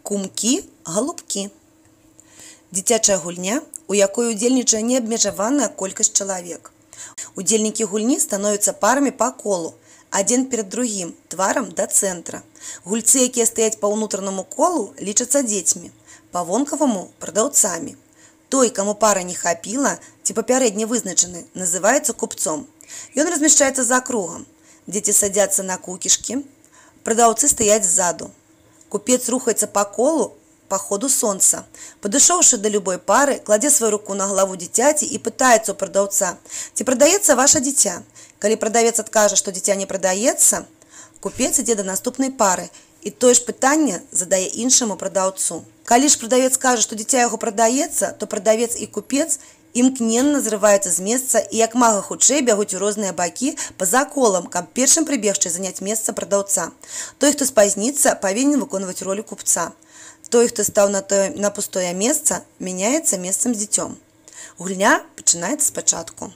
Кумкі, галубкі. Дзіцячая гульня, у якой удзельнічае неабмежаваная колькасць чалавек. Удзельнікі гульні становяцца парамі па колу, адзін перад другім, тварам да цэнтра. Гульцы, якія стаяць па ўнутранаму колу, лічацца дзецьмі, па вонкаваму прадаўцамі. Той, каму пара не хапіла ці папярэдне вызначаны, называецца купцом. Ён размяшчаецца за кругам. Дзеці садзяцца на кукішкі, прадаўцы стаяць ззаду. Купец рухаецца па колу па ходу сонца. Падышоўшы да любой пары, кладзе сваю руку на галаву дзіцяці і пытаецца ў прадаўца, ці прадаецца ваша дзіця. Калі прадавец адкажа, што дзіця не прадаецца, купец ідзе да наступнай пары і тое ж пытанне задае іншаму прадаўцу. Калі ж прадавец кажа, што дзіця яго прадаецца, то прадавец і купец імкненна зрываюцца з месца і як мага хутчэй бягуць у розныя бакі па-за колам, каб першым прыбегчы заняць месца прадаўца. Той, хто спазніцца, павінен выконваць ролю купца. Той, хто стаў на пустое месца, мяняецца месцам з дзіцём. Гульня пачынаецца спачатку.